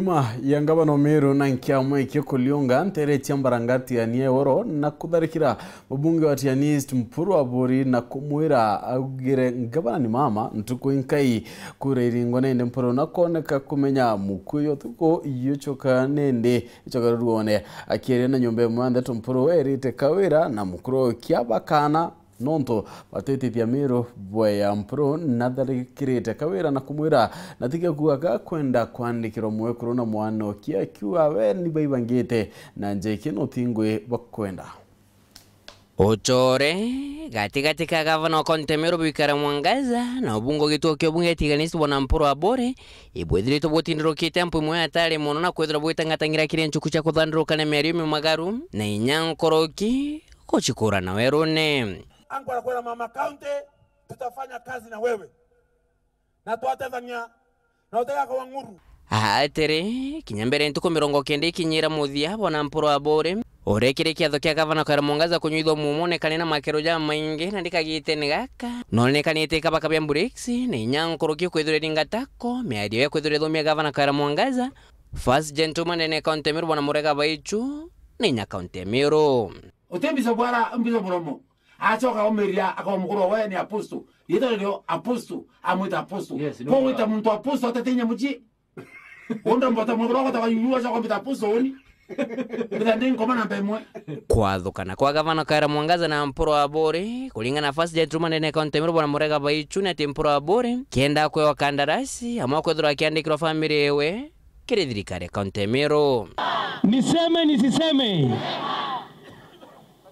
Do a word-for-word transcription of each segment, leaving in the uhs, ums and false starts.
Ma ya ngavana o Meru na nkiama ikio kuliunga ntere cia Mbarangati ya Nieworo na kutharikira mubunge wa Tiani East Mpuru Aburi na kumwira augire ngavana ni mama ntuku inkai kura iringwa nende Mpuru na kwoneka kumenya mukuyu utuku yucoka nende icoka ruone. Akiaria na nyomba imwe ya ndeto Mpuru erite Kawira na mukuru kia bakana nontu batitithia Miru bwea Mpuru natharikirite Kawira na kumwira na tiga kuuga gakwenda kwandikirwa mwekuru na mwana okia akiuga we ni baibangite na njeki no tingwi bakwenda. Ucore gatigati ka gavana wa kaunti ya Meru Bikara Mwangaza na ubunge gituo kia ubunge Tiganisi bwana Mpuru Aburi ibwithiritwe butindirukite mpu imwe hatari mono na kwithirwa bwitangatang'ira kiri nchuku cia kuthandurukania miario mimagaru na inya nkoroki gucikura na werune. Angu arakwira mama county, tutafanya kazi na wewe na twatethania na utegakwa ng'uru. Atiri, kinya mbere ntuku mirongo kenda ikinyira muthia bwana Mpuru Aburi urekire kiatho kia gavana Kawira Mwangaza kunyuithwa mumone kane na makero jamaingi na ndikagitene gaka nonekanite kabaka bia mburiksi na inya nkoroki kwithirwa iringatako miario ya kwithirwa ithomia gavana Kawira Mwangaza, first gentleman ndene kaunti ya Meru bwana Murega Baichu na inya kaunti ya Meru. Uti mbica bwara, mbica muromo. Acoka aumiria akaba mukuru we ni apostle. Riitwa rio apostle, amwita apostle. Yes, no. Ko wita muntu apostle atete inya mucii. Wonda mbota mukuru wako taka yuyu acoka mbita apostle uni. Mbita ndi nkoma namba imwe. Kwathukana kwa gavana Kawira Mwangaza na Mpuru Aburi, kuringana na first gentleman ndene kaunti ya Meru bwana Murega Baichu ni ati Mpuru Aburi kenda kwewa kandarasi amwe kwithirwa akiandikirwa family iwe kiri thirikari ya kaunti ya Meru. Niseme nisiseme?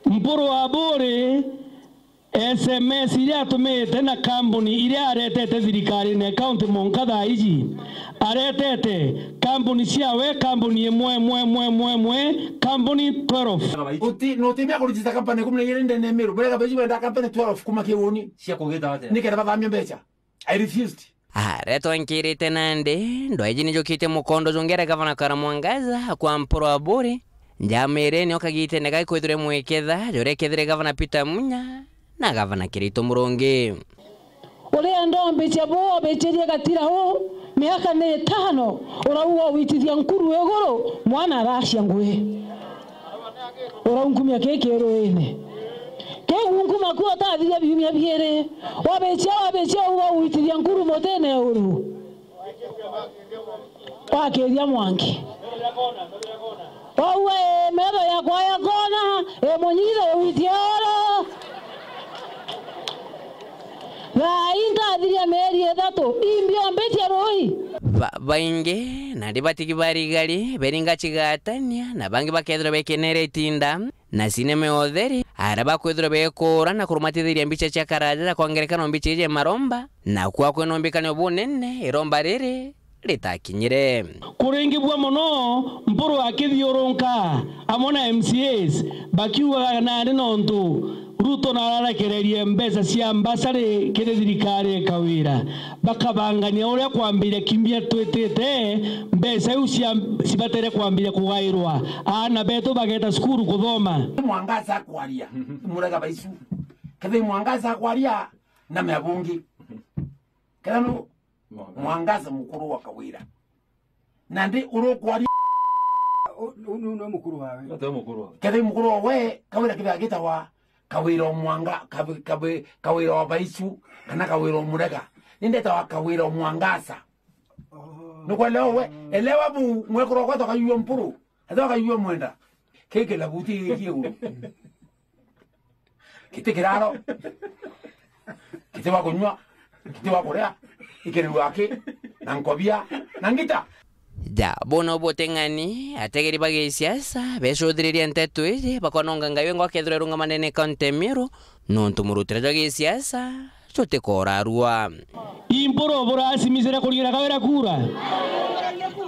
Mpuru Aburi S M S iria atumite na kambuni iria aretete thirikarine ya kaunti mwanka thaa iji, aretete kambuni ciawe, kambuni imwe, imwe, imwe, imwe, imwe, kambuni twelve. Uti, nutibia kurejista company ikumi na igiri ndene ya Meru. Murega Baichu benda company twelve kuma kiuni. Cia kugita atia? Nikenda bathamia mbeca. I refused. Aria twankirite nandi, ndwaiji nijukitie mukondo jungi aria gavana Kawira Mwangaza akwa Mpuru Aburi, njama iria nio kagitene gaki kwithirwe mwiketha juria kethire gavana Peter Munya na gavana Kirito Murungi. Uria ndombicia bu obichirie gatira u miaka ni itano, urauga uitithia nkuru iguru, mwana aracia ngui. Uraunkumia kii kiruine. Kiu unkuma kuo utathiria biumia biiri. Wabicia, wabicia, uga uitithia nkuru mutine uru. Wakiria mwanki. Waua, ii, metho yakwa ya kona, ii, munyitho witie oro. Thaa ii ntathiria mieri ithatu, imbiombitie rui. Ba-, baingi, nandi batigi barigari, beringa cigatania, na bangi bakethirwa bekenere itinda, na sinema ya utheri, aria bakwithirwa bekuura na kurumatithiria mbicha cia karaja ja kwa ngerekano mbicha iji ya maromba, na kwa kwina umbikanio bunene, iromba riri ritakinyire. Kuringibua mono Mpuru akithiurunka amwe na M C As bakiugaga nandi nontu Ruto nararekererie mbeca cia mbasari kiri thirikari ya Kawira, bakabangania uria kwambiria kiumia twitite, mbeca iu cia, cibatere kwambiria kugairwa aana betu bageta cukuru kuthoma. Mwangaza akwaria, Murega Baichu. Kethira Mwangaza akwaria, na mea bungi. Kethira nu Mwangaza. Mwangaza mukuru wa Kawira. Nandi urukwaria. U-, u-, nu-, nu mukuru wawe. Ate mukuru wawe. Kethira mukuru wawe, Kawira kethira agitawa Kawira o Mwanga-, Kawi-, Kawi-, Kawira o Baichu, kana Kawira o Murega. Nindetawa Kawira o Mwangaza. Oh. Nukwelewa we? Elewa bu, mwekuru wakwa toka yuo Mpuru. Ate toka yuo Mwenda. Kiki labuti giki iguru. Giti kiraro, giti wa kunyua, giti wa kuria, ikirirwa aki, na nkobia, na ngita. Ja, bono buteng'ani, ategeri ba gisiasa, becuthiririe nteto iji, bakononga Ngai wengwa akethirwa irungamanene kaunti ya Meru, nontu murutire jwa gisiasa, jutikora arua. Impuru burasimicire kuring'ira Kawira kura?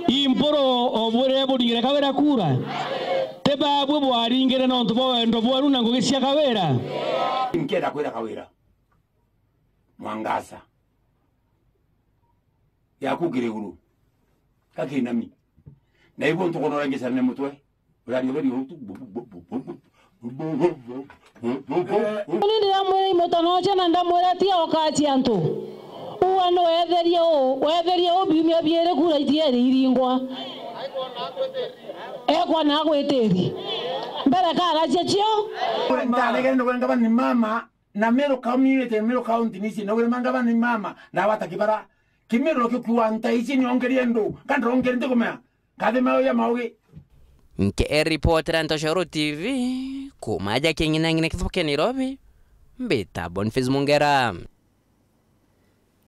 Impuru obwire buring'ire Kawira kura? Ti babwe bwaring'ire nontu bwa wendo bweru na ngugi cia Kawira? Nkenda kwira Kawira, Mwangaza, yaku kiri iguru, gakinami. Na ibu ntukonora ngicarane mutwe. Uraria uria uri utu. Ni ndiramwira imutanocia na ndamwira, tia ukacia antu. Uga ni wetherie u, wetherie u biumia biiri kura itieri iringwa. Ekwona agwitiri mbere karacia cio. Ndanegere nogwira ngavana ni mama, na Meru community, Meru county nisi nogwira ngavana ni mama, na wata kibara. Kimeru kio kiwa nta ici ni ongerie ndu, kandra ongerie ntikumea. Kathi mauya maugi. Nke ripotera Ntoshoro T V, kumaja king'inang'ina kithuke Nairobi, mbita Boniface Mungera.